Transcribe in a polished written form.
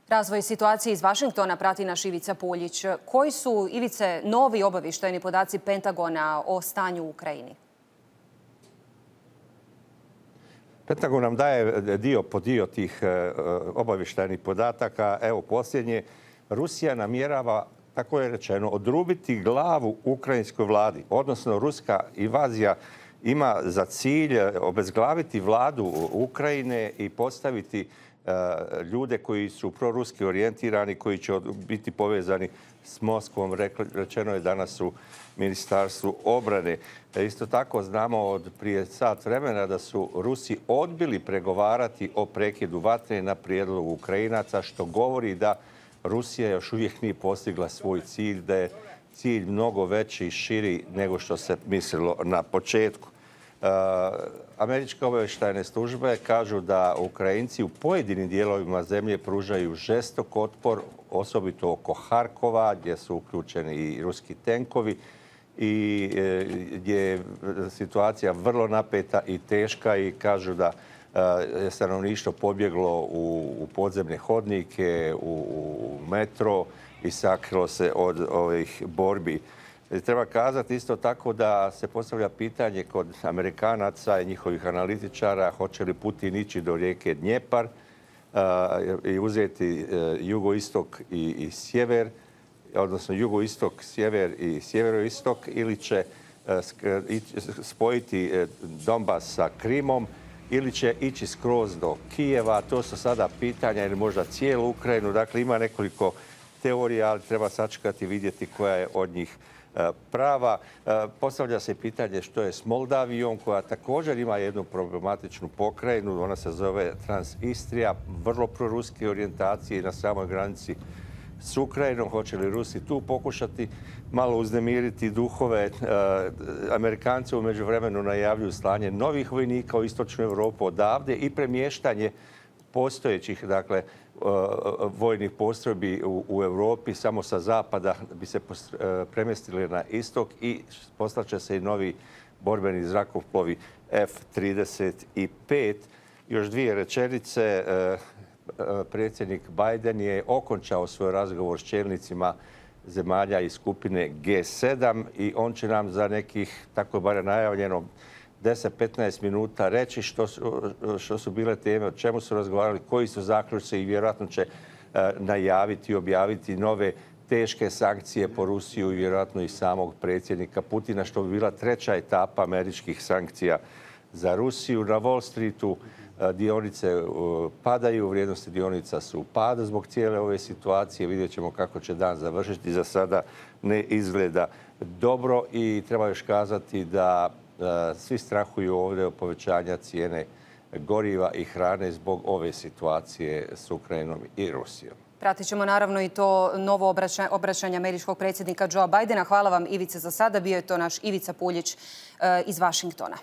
Razvoj situacije iz Vašingtona prati naš Ivica Puljić. Koji su, Ivice, novi obavještajni podaci Pentagona o stanju u Ukrajini? Pentagon nam daje dio po dio tih obavještajnih podataka. Evo posljednje, Rusija namjerava, tako je rečeno, odrubiti glavu ukrajinskoj vladi. Odnosno, ruska invazija ima za cilj obezglaviti vladu Ukrajine i postaviti ljude koji su proruski orijentirani, koji će biti povezani s Moskvom. Rečeno je danas u Ministarstvu obrane. Isto tako znamo od prije sat vremena da su Rusi odbili pregovarati o prekidu vatre na prijedlog Ukrajinaca, što govori da Rusija još uvijek nije postigla svoj cilj, da je cilj mnogo veći i širi nego što se mislilo na početku. Američke obavještajne službe kažu da Ukrajinci u pojedinim dijelovima zemlje pružaju žestok otpor, osobito oko Harkova, gdje su uključeni i ruski tenkovi i gdje je situacija vrlo napeta i teška, i kažu da je stanovništvo pobjeglo u podzemne hodnike, u metro i sakrilo se od ovih borbi. Treba kazati isto tako da se postavlja pitanje kod Amerikanaca i njihovih analitičara hoće li Putin ići do rijeke Dnjepar i uzeti jugoistok i sjever, odnosno jugoistok, sjever i sjeveroistok, ili će spojiti Donbas sa Krimom, ili će ići skroz do Kijeva. To su sada pitanja, ili možda cijelu Ukrajinu. Dakle, ima nekoliko teorija, ali treba sačekati i vidjeti koja je od njih prava. Postavlja se pitanje što je s Moldavijom, koja također ima jednu problematičnu pokrajinu. Ona se zove Transistrija, vrlo proruske orijentacije i na samoj granici s Ukrajinom. Hoće li Rusi tu pokušati malo uznemiriti duhove? Amerikanci u međuvremenu najavljuju slanje novih vojnika u istočnu Europu odavde i premještanje postojećih, dakle, vojnih postrojbi u Europi samo sa zapada bi se premjestili na istok, i poslaće se i novi borbeni zrakoplovi F-35. Još dvije rečenice. Predsjednik Biden je okončao svoj razgovor s čelnicima zemalja iz skupine G7 i on će nam za nekih, tako je bar najavljeno, 10-15 minuta reći što su bile teme, o čemu su razgovarali, koji su zaključci, i vjerojatno će najaviti i objaviti nove teške sankcije po Rusiju i vjerojatno i samog predsjednika Putina, što bi bila treća etapa američkih sankcija za Rusiju. Na Wall Streetu dionice padaju, vrijednosti dionica su u padu zbog cijele ove situacije. Vidjet ćemo kako će dan završiti. Za sada ne izgleda dobro i treba još kazati da svi strahuju ovdje o povećanja cijene goriva i hrane zbog ove situacije s Ukrajinom i Rusijom. Pratit ćemo naravno i to novo obraćanje američkog predsjednika Joea Bidena. Hvala vam, Ivice, za sada. Bio je to naš Ivica Puljić iz Vašingtona.